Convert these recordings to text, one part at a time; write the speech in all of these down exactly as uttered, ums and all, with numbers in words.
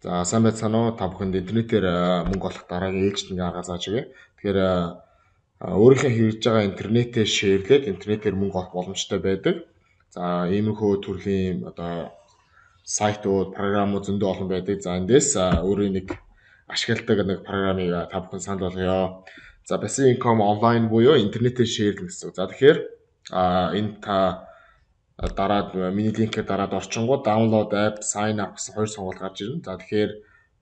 За сайн байцгаана уу? Та бүхэнд интернетээр мөнгө олох дараагийн ээлжид ингээ арга зааж өгье. Тэгэхээр өөрийнхөө хэрэгж байгаа интернетээ шеэрлээд интернетээр мөнгө олох боломжтой байдаг. За иймэрхүү төрлийн одоо сайтууд, програмууд зөндөө олон байдаг. За эндээс өөрийн нэг ашигладаг нэг програмыг та бүхэн санал болгоё. За Basic Income Online буюу интернетээр шеэрлэх гэсэн. За тэгэхээр энэ та дараад миний линкээр дараад орчингууд download app, sign up гэсэн хоёр сонголт гарч ирнэ. За тэгэхээр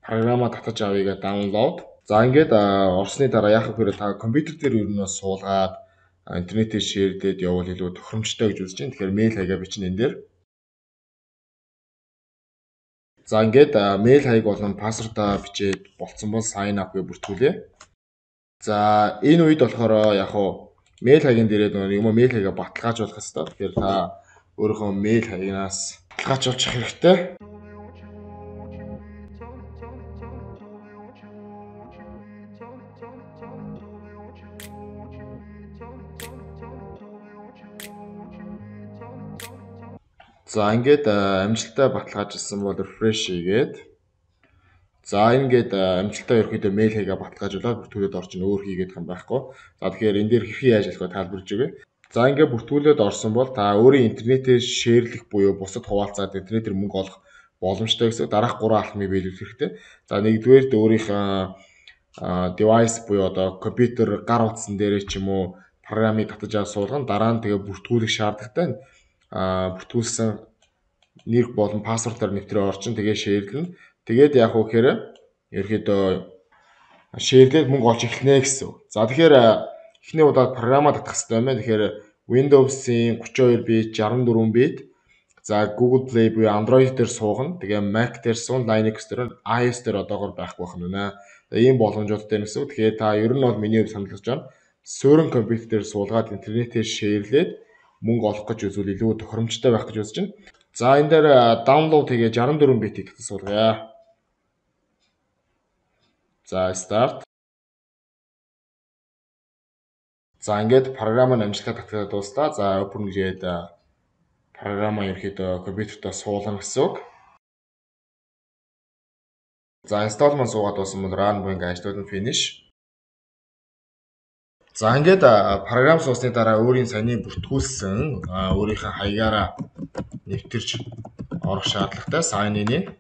програма татаж авъя гэдэг download. За ингээд орсны дараа яах вэ гэхээр та компьютер дээр ер нь суулгаад интернетээр шеэрлээд явуул илүү тохиромжтой гэж үзэж байна. Тэгэхээр мэйл хаягаа бичнэ энэ дээр. За ингээд мэйл хаяг болон пассвордаа бичээд болцсон бол sign up гэж бүртгүүлье. За энэ үед болохоор яг хуу мэйл хаягийн дээрээ юм мэйл хаягаа баталгаажуулах хэрэгтэй. Тэгэхээр та өөрийнхөө мэйл хаягнаас баталгаажуулах хэрэгтэй. За ингээд амжилттай баталгаажуулсан бол refresh хийгээд за ингээд амжилттай ерөөхдөө мэйл хаягаа баталгаажуулаад бүртгүүлээд орчин өөр хийгээд юм байхгүй. За тэгэхээр энэ дээр хэрхэн яаж ажиллах вэ тайлбарж өгье. За ингээд бүртгүүлээд орсон бол та өөрийн интернетээр шеэрлэх буюу бусад хуваалцаад интернетээр мөнгө олох боломжтой гэсэн. Дараах гурван алхмыг биелүүлэх хэрэгтэй. За нэгдүгээр өөрийнхөө девайс буюу одоо компьютер гар утсан дээрээ ч юм уу програмыг татаж аваад суулгана. Дараа нь тэгээ бүртгүүлэх шаардлагатай. А бүртгүүлсэн нэр болон пассвордоор нэвтрээ орчин тэгээ шеэрлэнэ. Тэгээд яг уу гэхээр ерөөдөө шеэрлээд мөнгө олж эхэлнэ гэсэн. За тэгэхээр эхний удаад програмаа татах хэрэгтэй байна. Тэгэхээр Windows-ийн гурван хоёр бит, шестьдесят четыре бит, за Google Play буюу Android дээр суугана. Тэгээ Mac дээр суун, Linux дээр, iOS дээр одоогоор байхгүй байх нь байна. Ийм боломжуудтай гэсэн. Тэгэхээр та ер нь бол миний хувьд санал болгож байна. Суурин компьютер дээр суулгаад интернетээр шеэрлээд мөнгө олох гэж үзвэл илүү тохиромжтой байх гэж үзэж байна. За энэ дээр download хийгээ шестьдесят четыре битийг татаж суулгая. За start. За ингээд програм нь амжилттай татгалзаад дуустаа. За open гээд програма ерөөхдөө компьютертаа суулгана гэсэн үг. За install маань суугаад дууссан бол run буюу ингээд ажлууд нь finish. За ингээд програм суусны дараа өөрийн саяны бүртгүүлсэн өөрийнхөө хаягаараа нэвтэрч орох шаардлагатай sign in.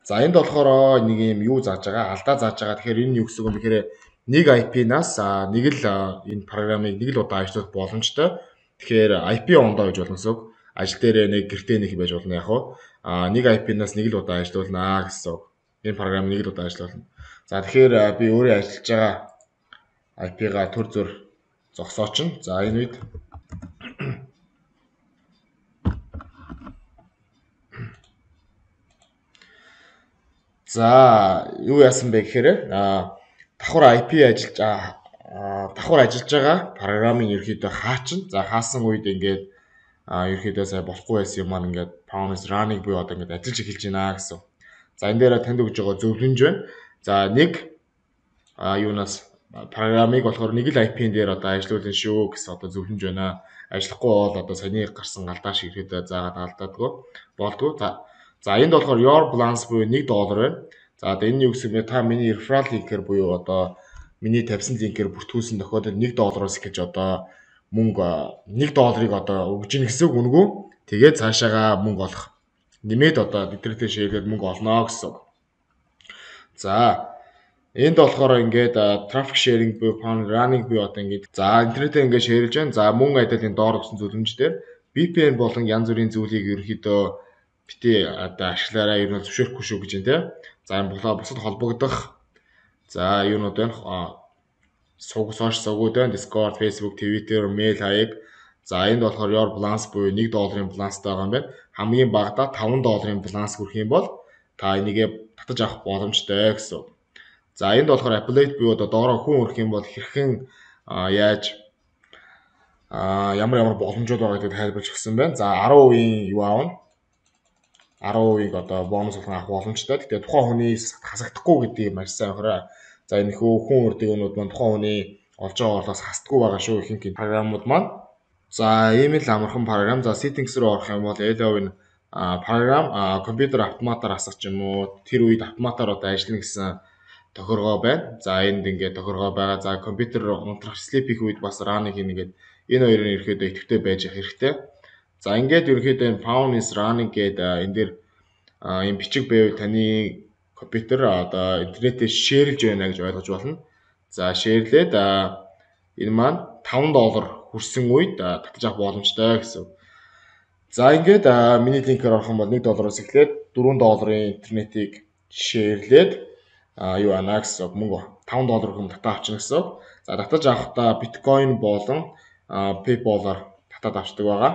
За энд болохоор нэг юм юу зааж байгаа, алдаа зааж байгаа. Тэгэхээр энэ юу гэсэн үг юм бэхээр нэг ай пи-наас нэг л энэ програмыг нэг л удаа ажиллуулах боломжтой. Тэгэхээр ай пи ондоо гэж болно гэсэн үг. Ажил дээр нэг гэртээ нэг байж болно яг уу. А нэг ай пи-наас нэг л удаа ажиллуулнаа гэсэн үг. Энэ програм нэг л удаа ажиллуулна. За тэгэхээр би өөрөө ажиллаж байгаа ай пи-га төр зөр зогсоочно. За энэ үед за юу яасан бэ гэхээр давхар ай пи ажиллаж давхар ажиллаж байгаа програмын ерөөхдөө хаачна. За хаасан үед ингээд ерөөхдөө сая болохгүй байсан юм маань ингээд promise running буюу одоо ингээд ажиллаж эхэлж байна гэсэн. За энэ дээр танд өгж байгаа зөвлөмж байна. За нэг юунаас програмыг болохоор нэг л ай пи-н дээр одоо ажиллуулна шүү гэсэн одоо зөвлөмж байна. Ажиллахгүй бол одоо саяны гарсан алдаа шиг ерөөдөө заагаад алдаадаг болдгоо. За за энд болохоор your balance буюу нэг доллар байна. За одоо энэ юу гэсэн бэ? Та миний referral link-ээр буюу одоо миний тавьсан линкээр бүртгүүлсэн тохиолдолд нэг доллароос гэж одоо мөнгө нэг долларыг одоо өгж ийн гэсэн үг үнгүү. Тэгээд цаашаага мөнгө олох. Нэмээд одоо интернетээр шеэрлээд мөнгө олно гэсэн үг. За энд болохоор ингээд traffic sharing буюу running буюу одоо ингээд за интернетээр ингээд шеэрлж байна. За мөн адилын доор өгсөн зөвлөмждөр ви пи эн болон янз бүрийн зүйлийг ерөөхдөө бити одоо ашиглаараа ер нь зөвшөөрөхгүй шүү гэж байна те. За энэ болоо бусад холбогдох за юунууд байна. Сууг сошиал сувгууд байна. Discord, Facebook, Twitter, mail хаяг. За энд болохоор your balance буюу нэг долларын баланстай байгаа юм байна. Хамгийн багадаа таван долларын баланс хүрэх юм бол та энийгээ татаж авах боломжтой гэсэн. За энд болохоор affiliate буюу одоо доороо хүн өрөх юм бол хэрхэн яаж ямар ямар боломжууд байгаа гэдгийг тайлбарч өгсөн байна. За десять процент юу аавна? десять процент одоо бонус авах боломжтой. Гэхдээ тухайн хүний хасагдахгүй гэдгийг маш сайн анхаарай. За энэ хүү хүн үрдэг өнүүд маань тухайн хүний олж байгаа орлогоос хасдаггүй байгаа шүү ихэнх програмууд маань. За ийм л амархан програм. За settings руу орох юм бол Elov-ын програм компьютер автоматар хасах ч юм уу тэр үед автоматар одоо ажиллана гэсэн тохиргоо байна. За энд ингээд тохиргоо байгаа. За компьютер унтрах sleep хийх үед бас run хийнэ гэдэг энэ хоёрын ерөөхдөө идэвхтэй байж явах хэрэгтэй. За ингээд ерөөхдөө энэ found is running гэдэг энэ дэр ийм бичиг байв таны компьютер одоо интернетээр шеэрлж байна гэж ойлгож болно. За шеэрлээд энэ маань таван доллар хүрсэн үед татаж авах боломжтой гэсэн. За ингээд миний линкээр орох юм бол нэг доллароос эхлээд дөрвөн долларын интернетийг шеэрлээд юу ана гэсэн мөнгө таван доллар хүм татаж авчихна гэсэн. За татаж авахдаа биткойн болон PayPal-аар татаад авчдаг байгаа.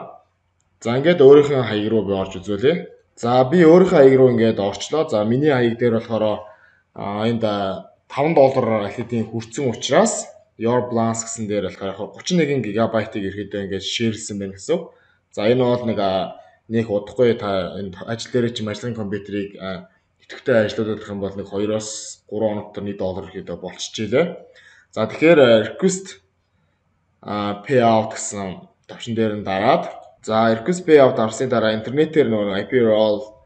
За ингээд өөрийнхөө хаяг руу би орж үзүүлье. За би өөрийнхөө хаяг руу ингээд орчлоо. За миний хаяг дээр болохоор энд таван доллар алидийн хүрсэн учраас Your Balance гэсэн дээр болохоор гурван нэг гигабайтыг ерөөдөө ингээд шеэрлсэн байна гэсэн. За энэ бол нэг нэг удахгүй та энэ ажил дээр чим ажлын компьютерийг идэвхтэй ажиллуулах юм бол нэг хоёроос гурван хоног төр доллар ихэд болчихжээ. За тэгэхээр request payout гэсэн товчон дээр нь дараад за request payout авсны дараа интернетээр нөгөө ай пи roll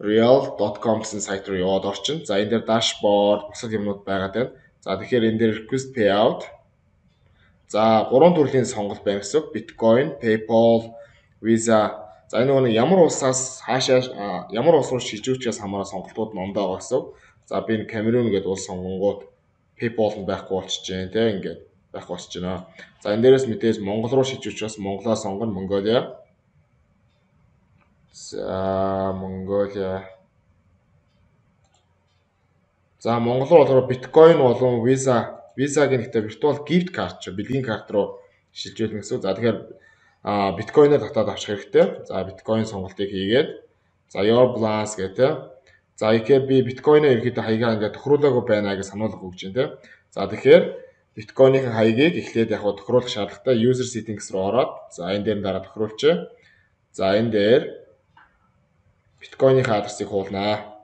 real dot com гэсэн сайт руу яваад орчин. За энэ дээр dashboard бусад юмнууд байгаад байна. За тэгэхээр энэ дээр request payout за гурван төрлийн сонголт байна гэсэн. Bitcoin, PayPal, Visa. За энэ нэг ямар улсаас хаашаа ямар улс руу шилжүүлчихээс хамаараа сонголтууд нондоо байгаа гэсэн. За би энэ Cameroon гэдэг улс сонгонгууд PayPal нь байхгүй болчихжээ те ингээд байхгүй болчихж байна. За энэ дээрээс мэдээж Монгол руу шилжүүлчихээс Монголоо сонгоно Mongolia. За Mongolia. За Монгол руу болохоор Bitcoin болон Visa Visa-гийн ихтэй virtual gift card ч бэлгийн карт руу шилжүүлнэ гэсэн. За тэгэхээр Bitcoin-оор татаад авчих хэрэгтэй. За Bitcoin сонголтыг хийгээд за Your Balance гэдэг. За ихээр би Bitcoin-ыг ерөөдөө хаягаа ингээд тохируулаагүй байна гэж сануулга өгч байна те. За тэгэхээр Bitcoin-ийн хаягийг эхлээд яг тохируулах шаардлагатай user settings руу ороод за энэ дээр дараа тохируулчих. За энэ дээр Bitcoin-ийн адресыг хуулнаа.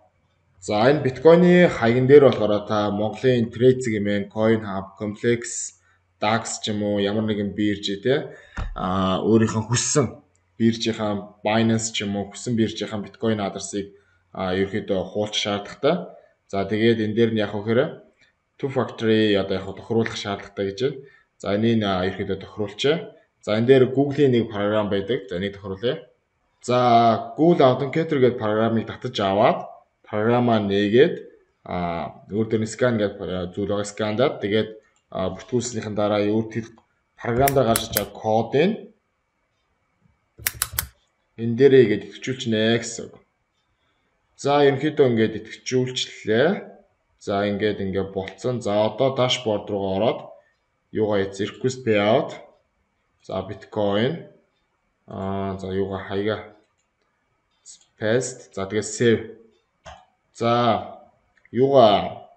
За энэ Bitcoin-ийн хаягн дээр болохоор та Монголын Trade гэмээр CoinHub, Complex, Dax ч юм уу ямар нэгэн бирж те а өөрийнхөө хүссэн биржийнхаа Binance ч юм уу хүссэн биржийнхаа Bitcoin адресыг а ерөөхдөө хуулах шаардлагатай. За тэгээд энэ дээр нь яг хөөрэ two factory одоо яг тохируулах шаардлагатай гэж байна. За энийг ерөөхдөө тохируулчаа. За энэ дээр Google-ийн нэг програм байдаг. За энийг тохируулъя. За Google Authenticator гэдэг програмыг татаж аваад програмаа нээгээд а өөр дээр нь скан гэдэг зүйл байгаа скандаад тэгээд бүртгүүлснийхэн дараа өөр тэр програмдаа гарч байгаа кодыг энэ дээрээ игээд идэвхжүүлчихнэ гэсэн. За ерөнхийдөө ингээд идэвхжүүлчлээ. За ингээд ингээд болцсон. За одоо dashboard руугаа ороод юугаа яц request payout. За Bitcoin аа за юугаа хаяга paste. За тэгээд save. За юугаа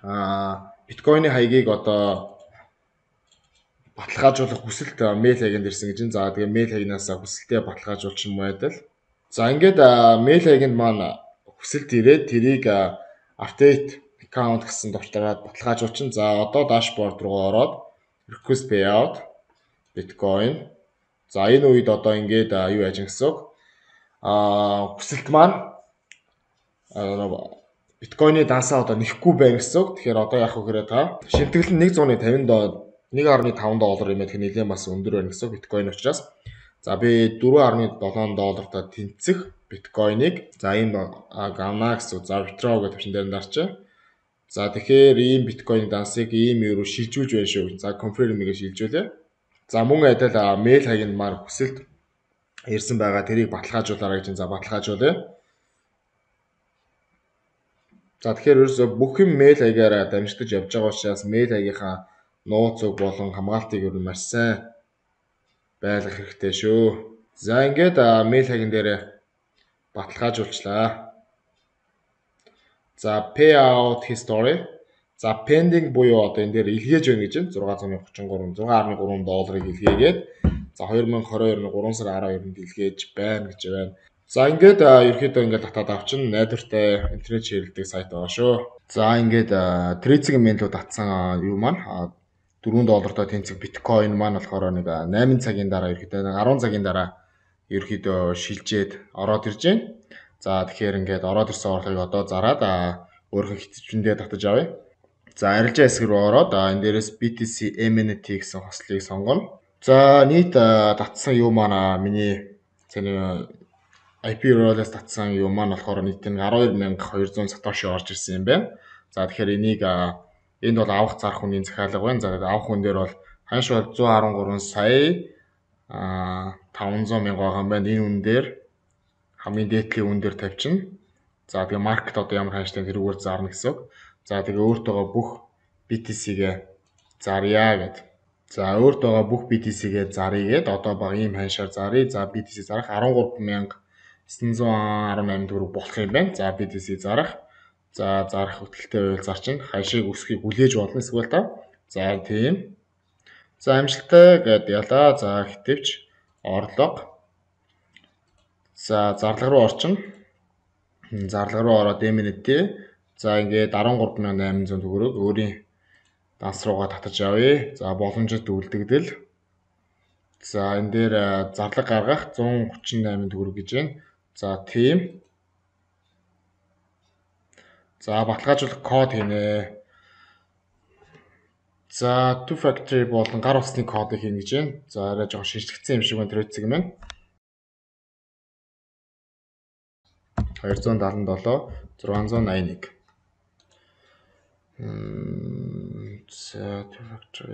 а Bitcoin-ийн хаягийг одоо баталгаажуулах хүсэлт мэйл хаяганд ирсэн гэж. За тэгээ мэйл хаягнаас хүсэлтээ баталгаажуулчих юм байдал. За ингээд мэйл хаяганд маань хүсэлт ирээд тэрийг update account гэсэн товчлораад баталгаажуулчин. За одоо dashboard руу ороод request payout Bitcoin. За энэ үед одоо ингээд юу яаж гэсэн а хүсэлт маань Bitcoin-ы дансаа одоо нэхгүй байна гэсэн. Тэгэхээр одоо яг хөөрэ та шимтгэл нь нэг зуун тавин доллар нэг гаруй таван доллар юм их нэлээд бас өндөр байна гэсэн Bitcoin учраас. За би дөрвөн гаруй долоон доллартаа тэнцэх Bitcoin-ыг за ийм гавна гэсэн. За withdraw гэдэг төвшин дээр дарчаа. За тэгэхээр ийм Bitcoin дансыг ийм юу шилжүүлж байна шүү. За confirm-ийг шилжүүлээ. За мөн адил мэйл хаягнд маань хүсэлт ирсэн байгаа тэрийг баталгаажуулаарай гэж. За баталгаажуулъя. За тэгэхээр ерөөсөө бүх юм мэйл хаягаараа дамжигдаж явж байгаа учраас мэйл хаягийнхаа нууц үг болон хамгаалтыг ер нь маш сайн байлгах хэрэгтэй шүү. За ингээд мэйл хаягн дээр баталгаажуулчлаа. За payout history. За pending буюу одоо энэ дээр илгээж байна гэж байна. зургаан зуун очин гурван зургаан гаруй гурван долларыг илгээгээд за хоёр мянга двадцать deux оны гурван сарын арав хоёрнд илгээж байна гэж байна. За ингээд ерөөхдөө ингээд татаад авчин найдвартай интернет ширэлдэг сайт байгаа шүү. За ингээд Trade-ийн менюд татсан юу маань дөрвөн доллартай тэнцэх биткойн маань болохоор нэг найман цагийн дараа ерөөдөө нэг арван цагийн дараа ерөөдөө шилжээд ороод ирж байна. За тэгэхээр ингээд ороод ирсэн орлогыг одоо зараад өөрийнхөө хитчэндээ татаж авъя. За арилжаа хэсэг рүү ороод энэ дээрээс би ти си эм эн ти гэсэн хослыг сонгоно. За нийт татсан юу маань миний цэний ай пи role-аас татсан юу маань болохоор нийт нь арван хоёр мянга хоёр зуун сатоши орж ирсэн юм байна. За тэгэхээр энийг энд бол авах зарах үнийн захиалга байна. За авах хүн дээр бол ханш бол зуун арван гурван сая таван зуун мянга байгаа юм байна. Энэ үн дээр хамгийн дээдлийн үн дээр тавьчихна. За тэгээ маркет одоо ямар ханштай тэрүүгээр зарна гэсэн үг. За тэгээ өөртөөгөө бүх би ти си-гээ зарья гэд. За өөртөөгөө бүх би ти си-гээ заръя гэд одоо баг ийм ханшаар заръя. За би ти си зарах арван гурван мянга эссэн зуун арван найман төгрөг болох юм байна. За би ти си зарах. За зарах хөтөлтэй байвал зарчин. Хашийг өсөхийг хүлээж болно эсвэл та. За тийм. За амжилттай гэд ялаа. За хитвч орлого. За зарлага руу орчин. Зарлага руу ороод эм эн ти. За ингээд арван гурван мянга найман зуун төгрөг өөрийн данс руугаа татаж авъя. За боломжит үлдэгдэл. За энэ дээр зарлага гаргах зуун гучин найман төгрөг гэж байна. За тийм. За баталгаажуулах код хийнэ. За two factor болон гар утасны кодыг хийнэ гэж байна. За арай жоохон шинжлэхсэн юм шиг байна тэр үцэг маань. хоёр зуун даатан долоо зургаан зуун найман нэг. За two factor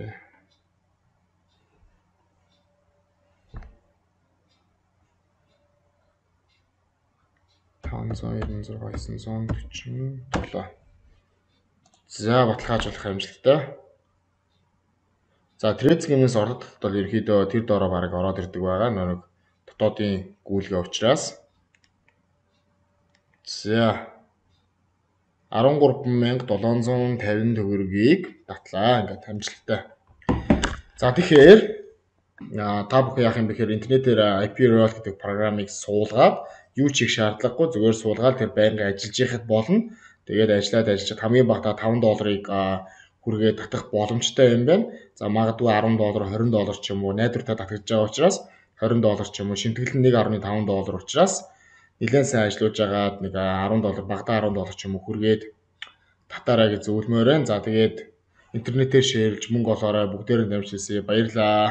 таван зуун найман зургаан эссэн зуун дөрвөн долоо. За баталгаажуулах амжилттай. За трейд схемээс орлого бол ерөөдөө тэр доороо бараг ороод ирдэг байгаа. Нэг дотоодын гүйлгээ учраас. За арван гурван мянга долоон зуун тавин төгрөгийг татлаа. Ингээд амжилттай. За тэгэхээр та бүхэн яах юм бэ гэхээр интернетээр ай пи role гэдэг програмыг суулгаад юу ч хийх шаардлагагүй зүгээр суулгаад тэр байнга ажиллаж яхад болно. Тэгээд ажиллаад ажиллаж хамгийн багадаа таван долларыг хүргээд татах боломжтой юм байна. За магадгүй арван доллар, хорин доллар ч юм уу найдвартай татгаж байгаа учраас хорин доллар ч юм уу шимтгэл нь нэг гаруй таван доллар учраас нэлээд сайн ажиллаж байгаад нэг арван доллар багадаа арван доллар ч юм уу хүргээд татаарай гэж зөвлөмөр байна. За тэгээд интернетээр шеэрлж мөнгө олоорой бүгдээрээ дамжуулъя. Баярлалаа.